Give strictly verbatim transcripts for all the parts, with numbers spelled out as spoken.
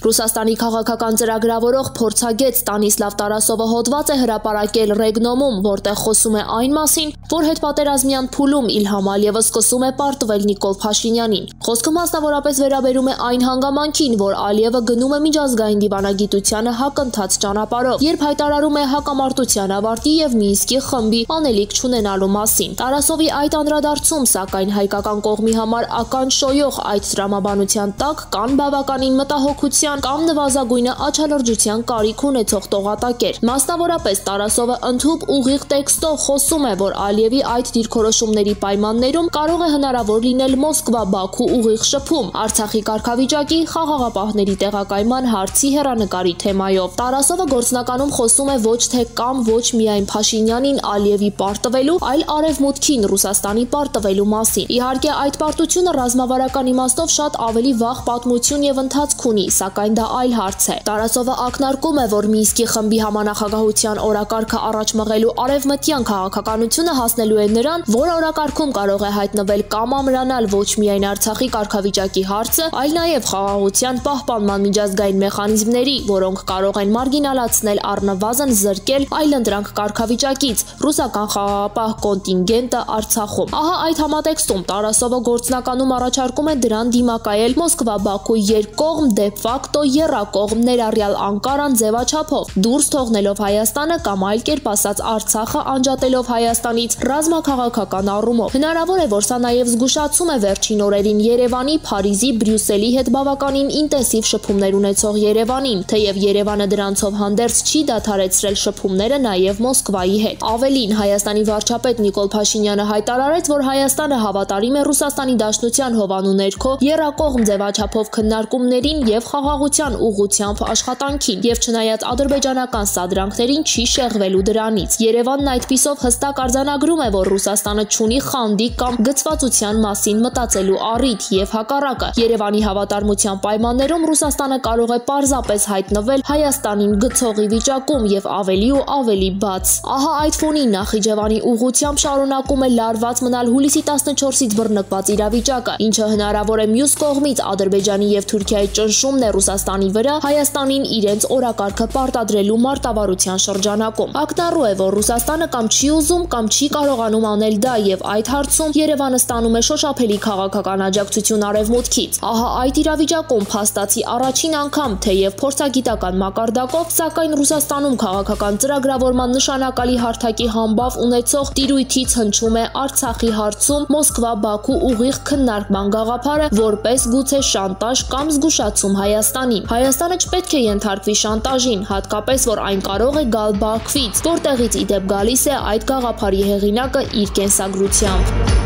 Ռուսաստանի քաղաքական ծրագրավորող փորձագետ Ստանիսլավ Տարասովը հոդված է հրապարակել Ռեգնոմում, որտեղ խոսում է այն մասին, որ հետպատերազմյան փուլում Իլհամ Ալիևը սկսում է պարտվել Նիկոլ Փաշինյանին։ Խոսքը մասնավորապես վերաբերում է այն հանգամանքին, որ Ալիևը գնում է միջազգային դիվանագիտությանը հակընթաց ճանապարհով, երբ հայտարարում է հակամարտության ավարտի եւ Մինսկի խմբի անելիք չունենալու մասին։ Տարասովի այդ անդրադարձում, սակայն, հայկական կողմի համար ականջշոյող այդ տրամաբանության տակ կան բավականին մտահոգության կամ նվազագույնը աչալրջության կարիք ունեցող տողատակեր։ Մասնավորապես Տարասովը ընդհուպ ուղիղ տեքստով խոսում է, որ Ալիևի այդ դիրքորոշումների պայմաններում կարող է հնարավոր լինել Մոսկվա-Բաքու ուղիղ շփում Արցախի կարգավիճակի, խաղաղապահների տեղակայման հարցի հեռանկարի թեմայով։ Տարասովը գործնականում խոսում է ոչ թե կամ ոչ միայն Փաշինյանին Ալիևի պարտվելու, այլ արևմուտքին Ռուսաստանի պարտվելու մասին։ Իհարկե, այդ պարտությունը ռազմավարական իմաստով շատ ավելի վաղ պատմություն եւ ընթացք ունի, սակայն դա այլ հարց է։ Տարասովը ակնարկում է, որ Մինսկի խմբի համանախագահության օրակարգը առաջ մղելու արևմտյան քաղաքականությունը հասնելու է նրան, որ օրակարգում կարող է հայտնվել կամ ամրանալ ոչ միայն Արցախի կարգավիճակի հարցը, այլ նաեւ խաղաղության պահպանման միջազգային մեխանիզմների, որոնք կարող են մարգինալացնել առնվազն զրկել այլընտրանք կարգավիճակից ռուսական խաղաղապահ կոնտինգենտը Արցախում։ Ահա այդ համատեքստում Տարասովը գործնականում առաջարկում է դրան դիմակայել Մոսկվա-Բաքու երկկողմ դե ֆակտո եռակողմ ներառյալ Անկարան ձևաչափով, դուրս թողնելով Հայաստանը կամ այլ կերպ ասած Արցախը անջատելով Հայաստանից ռազմաքաղաքական առումով։ Հնարավոր է, որ սա նաև զգուշացում է վերջին օրերին Երևանի, Փարիզի, Բրյուսելի հետ բավականին ինտենսիվ շփումներ ունեցող Երևանին, թեև Երևանը դրանցով հանդերձ չի դադարեցրել շփումները նաև Մոսկվայի հետ։ Ավելին, Հայաստանի վարչապետ Նիկոլ Փաշինյանը հայտարարեց, որ Հայաստանը հավատարիմ է Ռուսաստանի Դաշնության հովանու ներքո եռակողմ ձևաչափով քննարկումներին եւ խաղաղության ուղղությամբ աշխատանքին, եւ չնայած ադրբեջանական սադրանքներին չի շեղվելու դրանից։ Երևանն այդպիսով հստակ արձանագրում է, որ Ռուսաստանը չունի խանդի կամ գծվածության մասին մտածելու առիթ եւ հակառակը։ Երևանի հավատարմության պայմաններում Ռուսաստանը կարող է պարզապես հայտնվել Հայաստանին գցողի վիճակում եւ ավելի ու ավելի բաց։ Ահա այդ ֆոնին Նախիջևանի ուղղությամբ շարունակում է լարված մնալ հուլիսի տասնչորսից բռնկված իրավիճակը, ինչը հնարավոր է մյուս կողմից Ադրբեջանի եւ Թուրքիայի ճնշումն է Ռուսաստանի վրա Հայաստանին իրենց օրակարգը պարտադրելու մարտավարության շրջանակում։ Ակնառու է, որ Ռուսաստանը կամ չի ուզում, կամ չի կարողանում անել դա եւ այդ հարցում Երևանը ստանում է շոշափելի քաղաքական աջակցություն արևմուտքից։ Ահա այդ իրավիճակում փաստացի առաջին անգամ, թեև փորձագիտական մակարդակով, սակայն Ռուսաստանում քաղաքական ծրագրավորման նշանակալի հարթակի համբավ ունեցող տիրույթից հնչում է Արցախի հարցում Մոսկվա-Բաքու ուղիղ քննարկման գաղափարը որպես գուցե շանտաժ կամ զգուշացում Հայաստանին։ Հայաստանը չպետք է ենթարկվի շանտաժին, հատկապես որ այն կարող է գալ Բաքվից, որտեղից ի դեպ գալիս է այդ գաղափարի հեղինակը իր կենսագրությամբ։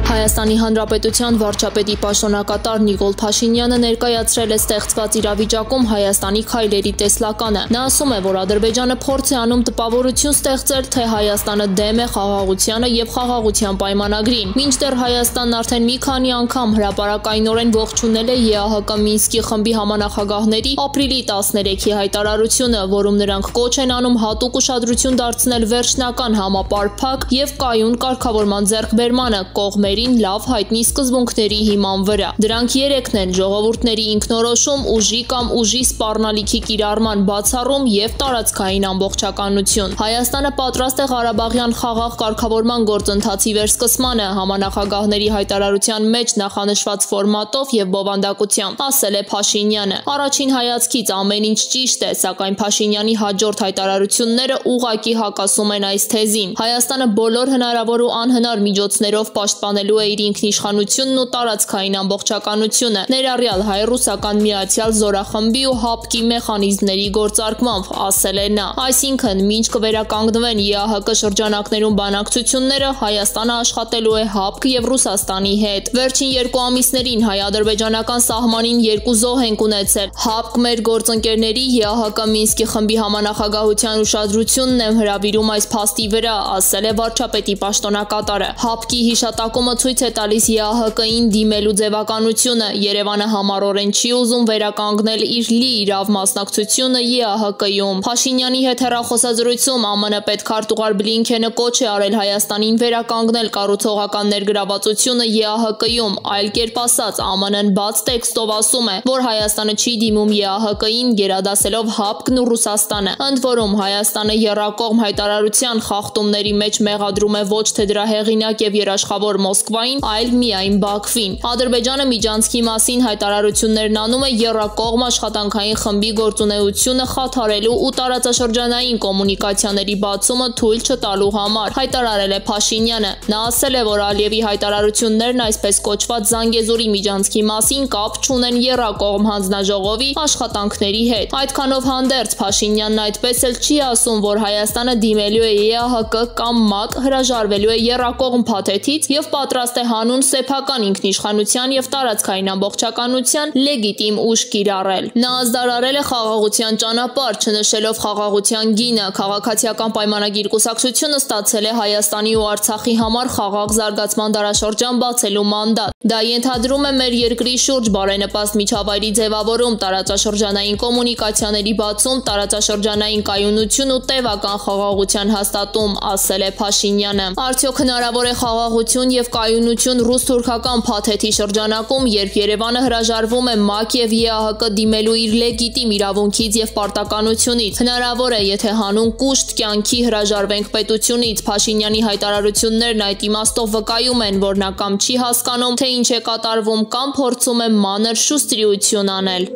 Հայաստանի Հանրապետության վարչապետի պաշտոնակատար Նիկոլ Փաշինյանը ներկայացրել է ստեղծված իրավիճակում Հայաստանի քայլերի տեսլականը։ Նա ասում է, որ Ադրբեջանը փորձ է անում տպավորություն ստեղծել, թե Հայաստանը դեմ է խաղաղությանը եւ խաղաղության պայմանագրին։ Մինչդեռ Հայաստանն արդեն մի քանի անգամ հրապարակայնորեն ողջունել է ԵԱՀԿ Մինսկի խմբի համանախագահների ապրիլի տասներեքի հայտարարությունը, որում նրանք կոչ են անում հատուկ ուշադրություն դարձնել վերջնական համապարփակ եւ կայուն կարգավորման ձեռքբերմանը կողմերի լավ հայտնի սկզբունքների հիման վրա։ Դրանք երեքն են՝ ժողովուրդների ինքնորոշում, ուժի կամ ուժի սպառնալիքի կիրառման բացառում եւ տարածքային ամբողջականություն։ Հայաստանը պատրաստ է Ղարաբաղյան խաղաղ կարգավորման գործընթացի վերսկսմանը համանախագահների հայտարարության մեջ նախանշված ֆորմատով եւ բովանդակությամբ, ասել է Փաշինյանը։ Առաջին հայացքից ամեն ինչ ճիշտ է, սակայն Փաշինյանի հաջորդ հայտարարությունները ուղղակի հակասում են այս թեզին։ Հայաստանը բոլոր հնարավոր ու անհնար միջոցներով պաշտպանելու է իր ինքնիշխանությունն ու տարածքային ամբողջականությունը, ներառյալ հայ-ռուսական միացյալ զորախմբի ու հապկի մեխանիզմների գործարկմամբ, ասել է նա։ Այսինքն, մինչ կվերականգնվեն ԵԱՀԿ շրջանակներում բանակցությունները, Հայաստանը աշխատելու է հապկ եւ Ռուսաստանի հետ։ Վերջին երկու ամիսներին հայ-ադրբեջանական սահմանին երկու զոհ ենք ունեցել։ Հապկ մեր գործընկերների ԵԱՀԿ Մինսկի խմբի համանախագահության ուշադրությունն եմ հրավիրում այս փաստի վրա, ասել է վարչապետի պաշտոնակատարը։ Հապկի հիշատակումը ցույց է տալիս Է Ա Հ Կ-ին դիմելու ձևականությունը։ Երևանը համառորեն չի ուզում վերականգնել իր լիիրավ մասնակցությունը Է Ա Հ Կ-ում։ Փաշինյանի հետ հեռախոսազրույցում Ա Մ Ն պետքարտուղար Բլինքենը կոչ է արել Հայաստանին վերականգնել կառուցողական ներգրավվածությունը Է Ա Հ Կ-ում, այլ կերպ ասած Ա Մ Ն-ն բաց տեքստով ասում է, որ Հայաստանը չի դիմում Է Ա Հ Կ-ին, գերադասելով ՀԱՊԿ-ն ու Ռուսաստանը։ Ընդ որում Հայաստանը եռակողմ հայտարարության խախտումների մեջ մեղադրում է ոչ թե դրա հեղինակ եւ երաշխավոր Մոսկվային, այլ միայն Բաքվին։ Ադրբեջանը միջանցքի մասին հայտարարություններն անում է եռակողմ աշխատանքային խմբի գործունեությունը խաթարելու ու տարածաշրջանային կոմունիկացիաների բացումը թույլ չտալու համար, հայտարարել է Փաշինյանը։ Նա ասել է, որ Ալիևի հայտարարություններն այսպես կոչված Զանգեզուրի միջանցքի մասին կապ չունեն եռակողմ հանձնաժողովի աշխատանքների հետ։ Այդքանով հանդերձ Փաշինյանն այդպես էլ չի ասում, որ Հայաստանը դիմելու է Է Ա Հ Կ կամ ՄԱԿ, հրաժարվելու է եռակողմ փաթեթից եւ պատրաստ է հանուն սեփական ինքնիշխանության եւ տարածքային ամբողջականության լեգիտիմ ուժ կիրառել։ Նա ազդարարել է խաղաղության ճանապարհ, չնշելով խաղաղության գինը։ Քաղաքացիական պայմանագիր կուսակցությունը ստացել է Հայաստանի ու Արցախի համար խաղաղ զարգացման դարաշրջան բացելու մանդատ։ Դա ենթադրում է մեր երկրի շուրջ բարենպաստ միջավայրի ձևավորում, տարածաշրջանային կոմունիկացիաների բացում, տարածաշրջանային կայունություն ու տևական խաղաղության հաստատում, ասել է Փաշինյանը։ Արդյոք հնարավոր է խաղաղություն եւ կայունություն ռուս-թուրքական փաթեթի շրջանակում, երբ Երևանը հրաժարվում է ՄԱԿ եւ Է Ա Հ Կ դիմելու իր լեգիտիմ իրավունքից եւ պարտականությունից։ Հնարավոր է, եթե հանուն կուշտ կյանքի հրաժարվենք պետությունից։ Փաշինյանի հայտարարություններն այդ իմաստով վկայում են, որ նա կամ չի հասկանում, թե ինչ է կատարվում, կամ փորձում է մանր շուստրիություն անել։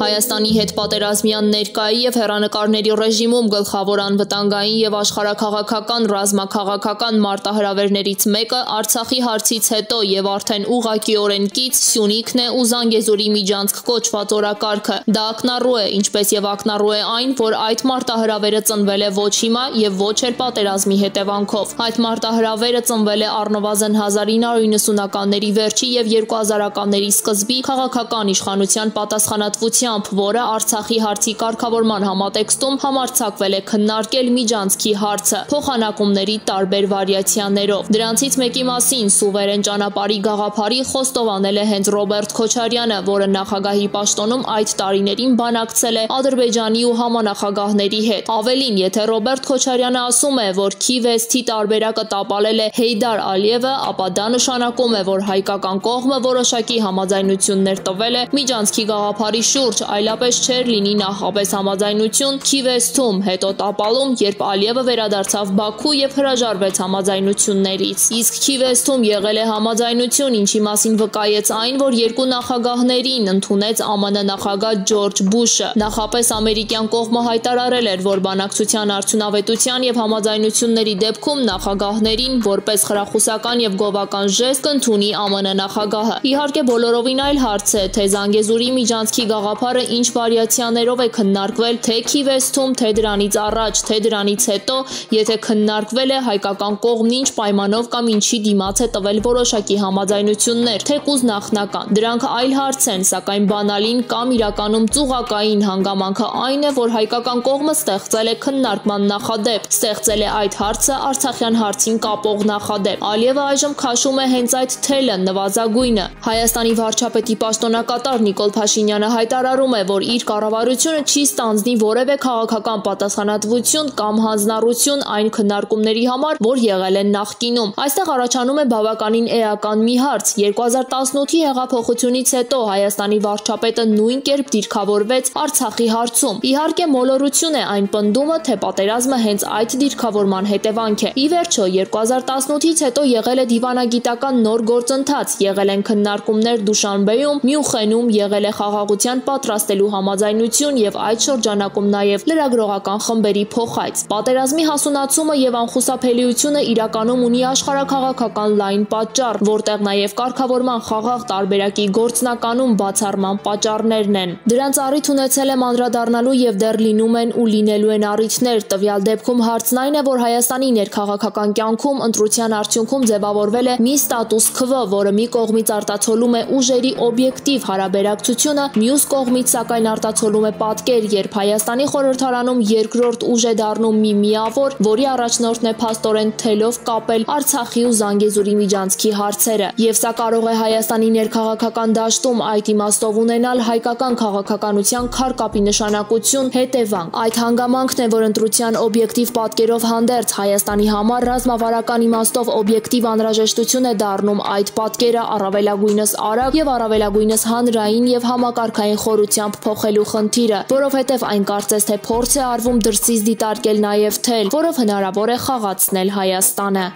Հայաստանի հետ պատերազմյան ներկայի եւ հեռանկարների ռեժիմում գլխավոր անվտանգային եւ աշխարհաքաղաքական ռազմաքաղաքական մարտահրավերներից մեկը Արցախի հարցից հետո եւ արդեն ուղղակիորեն կից Սյունիքն է ու Զանգեզուրի միջանցք կոչված օրակարգը։ Դա ակնառու է, ինչպես եւ ակնառու է այն, որ այդ մարտահրավերը ծնվել է ոչ հիմա եւ ոչ էլ պատերազմի հետևանքով։ Այդ մարտահրավերը ծնվել է առնվազն հազար ինը հարյուր նվթականների վերջի եւ երկու հազարականների սկզբի քաղաքական իշխանության պատասխանատվության, որը Արցախի հարցի կարգավորման համատեքստում համարձակվել է քննարկել միջանցքի հարցը փոխանակումների տարբեր վարիացիաներով։ Դրանցից մեկի մասին սուվերեն ճանապարհի գաղափարի խոստովանել է հենց Ռոբերտ Քոչարյանը, որը նախագահի պաշտոնում այդ տարիներին բանակցել է Ադրբեջանի ու համանախագահների հետ։ Ավելին, եթե Ռոբերտ Քոչարյանը ասում է, որ Քիև-Էստի տարբերակը տապալել է Հեյդար Ալիևը, ապա դա նշանակում է, որ հայկական կողմը որոշակի համաձայնություններ տվել է միջանցքի գաղափարի շուրջ, այլապես չէր լինի նախապես համաձայնություն Քիև-Էստում, հետո տապալում, երբ Ալիևը վերադարձավ Բաքու եւ հրաժարվեց համաձայնություններից։ Իսկ Քիև-Էստում եղել է համաձայնություն, ինչի մասին վկայեց այն, որ երկու նախագահներին ընդունեց Ա Մ Ն նախագահ Ջորջ Բուշը։ Նախապես ամերիկյան կողմը հայտարարել էր, որ բանակցության արդյունավետության եւ համաձայնությունների դեպքում նախագահներին որպես խրախուսական եւ գովական ժեստ կընդունի Ա Մ Ն նախագահը։ Իհարկե բոլորովին այլ հարց է, թե Զանգեզուրի միջանցքի գաղափարը ինչ վարիացիաներով է քննարկվել թե Քիև-Էստում, թե դրանից առաջ, թե դրանից հետո, եթե քննարկվել է հայկական կողմն ինչ պայմանով կամ ինչի դիմաց է տվել որոշակի համաձայնություններ, թեկուզ նախնական։ Դրանք այլ հարց են, սակայն բանալին կամ իրականում ծուղակային հանգամանքը այն է, որ հայկական կողմը ստեղծել է քննարկման նախադեպ, ստեղծել է այդ հարցը Արցախյան հարցին կապող նախադեպ։ Ալիևը այժմ քաշում է հենց այդ թելը, նվազագույնը։ Հայաստանի վարչապետի պաշտոնակատար Նիկոլ Փաշինյանը հայտարարում է, որ իր կառավարությունը չի ստանձնի որևէ քաղաքական պատասխանատվություն կամ հանձնառություն այն քննարկումների համար, որ եղել են նախկինում։ Այստեղ առաջանում է բավականին էական մի հարց։ երկու հազար տասնութի հեղափոխությունից հետո Հայաստանի վարչապետը նույն կերպ դիրքավորվեց Արցախի հարցում։ Իհարկե մոլորություն է այն պնդումը, թե պատերազմը հենց այդ դիրքավորման հետևանք է։ Ի վերջո երկու հազար տասնութից հետո եղել է դիվանագիտական նոր գործընթաց, եղել են քննարկումներ Դուշանբեում, Մյունխենում, եղել է խաղաղության պատրաստելու համաձայնություն եւ այդ շրջանակում նաեւ լրագրողական խմբերի փոխայց։ Պատերազմի հասունացումը եւ անխուսափելիությունը իրականում ունի աշխարհաքաղաքական լայն պատճառ, որտեղ նաեւ կարգավորման խաղաղ տարբերակի գործնականում բացառման պատճառներն են։ Դրանց առիթ ունեցել է անդրադառնալու եւ դեռ լինում են ու լինելու են առիթներ։ Տվյալ դեպքում հարցն այն է, որ Հայաստանի ներքաղաքական կյանքում ընտրության արդյունքում ձևավորվել է մի ստատուս քվո, որը մի կողմից արտացոլում է ուժերի օբյեկտիվ հարաբերակցությունը, մյուս կողմից կողմից սակայն արտացոլում է պատկեր, երբ Հայաստանի խորհրդարանում երկրորդ ուժ է դառնում մի միավոր, որի առաջնորդն է փաստորեն թելով կապել Արցախի ու Զանգեզուրի միջանցքի հարցերը։ Եվ սա կարող է Հայաստանի ներքաղաքական դաշտում այդ իմաստով ունենալ հայկական քաղաքականության քարկապի նշանակություն, հետևանք։ Այդ հանգամանքն է, որ ընտրության օբյեկտիվ պատկերով հանդերձ Հայաստանի համար ռազմավարական իմաստով օբյեկտիվ անհրաժեշտություն է դառնում այդ պատկերը առավելագույնս արագ եւ առավելագույնս հանրային եւ համակարգային խորությամբ փոխելու խնդիրը, որովհետեւ այն կարծես թե փորձ է արվում դրսից դիտարկել նաեւ թել, որով հնարավոր է խաղացնել Հայաստանը։